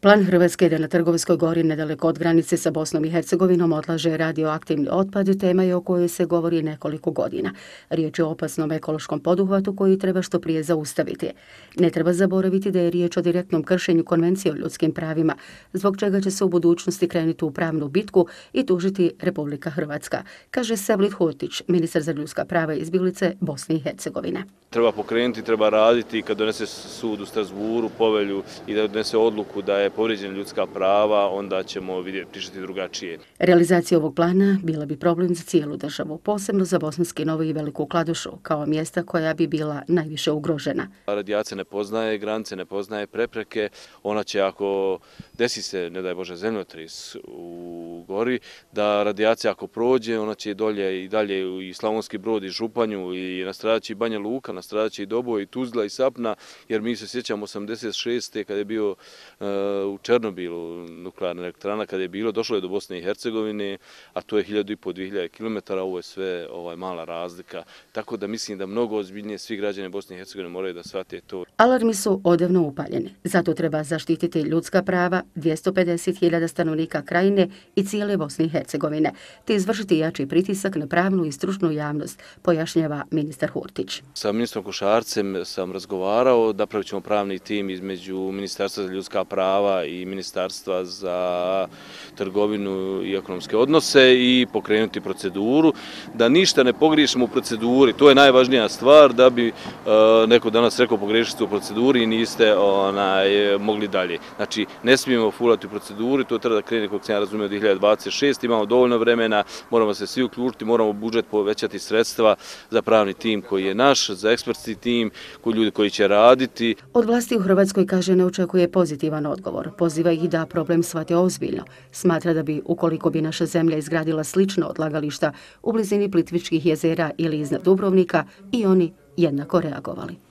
Plan Hrvatske je da na Trgovskoj gori nedaleko od granice sa Bosnom i Hercegovinom odlaže radioaktivni otpad, tema je o kojoj se govori nekoliko godina. Riječ je o opasnom ekološkom poduhvatu koji treba što prije zaustaviti. Ne treba zaboraviti da je riječ o direktnom kršenju Konvencije o ljudskim pravima, zbog čega će se u budućnosti krenuti u pravnu bitku i tužiti Republika Hrvatska, kaže Savlit Hurtić, ministar za ljudska prava i izbjeglice Bosne i Hercegovine. Treba pokrenuti, treba raditi kad donese sud u Strasburu povelju i da donese odluku da je povrijeđena ljudska prava, onda ćemo pričati drugačije. Realizacija ovog plana bila bi problem za cijelu državu, posebno za Bosanski Novo i Veliku Kladušu, kao mjesta koja bi bila najviše ugrožena. Radijacija ne poznaje granice, ne poznaje prepreke. Ona će, ako desi se, ne daj Bože, zemljotris u gori, da radijacija ako prođe, ona će dolje i dalje i Slavonski Brod i Županju i nastradat će i Banja Luka, nastradat će i Doboj i Tuzla i Sapna, jer mi se sjećamo 86. kada je bio u Černobilu nuklearna elektrana, kada je bilo, došlo je do Bosne i Hercegovine, a to je 1500-2000 km, ovo je sve mala razlika. Tako da mislim da mnogo ozbiljnije svi građani Bosne i Hercegovine moraju da shvate to. Alarmi su odavno upaljeni. Zato treba zaštititi ljudska prava 250.000 stanovnika krajine i cijele Bosne i Hercegovine, te izvršiti jači pritisak na pravnu i stručnu javnost, pojašnjava ministar Hurtić. Sa ministrom Košarcem sam razgovarao, napravit ćemo pravni tim između Ministarstva za ljudska prava i Ministarstva za trgovinu i ekonomske odnose i pokrenuti proceduru, da ništa ne pogriješimo u proceduri. To je najvažnija stvar, da bi neko danas rekao pogriješili ste u proceduri i niste mogli dalje. Znači, ne smijemo fulati u proceduri, to treba da krene, kako sam ja razumio, 2026. Imamo dovoljno vremena, moramo se svi uključiti, moramo budžet povećati sredstva za pravni tim koji je naš, za ekspertski tim, ljudi koji će raditi. Od vlasti u Hrvatskoj, kaže, ne očekuje pozitivan odgovor. Poziva ih da problem shvate ozbiljno. Smatra da bi, ukoliko bi naša zemlja izgradila slično odlagališta u blizini Plitvičkih jezera ili iznad Dubrovnika, i oni jednako reagovali.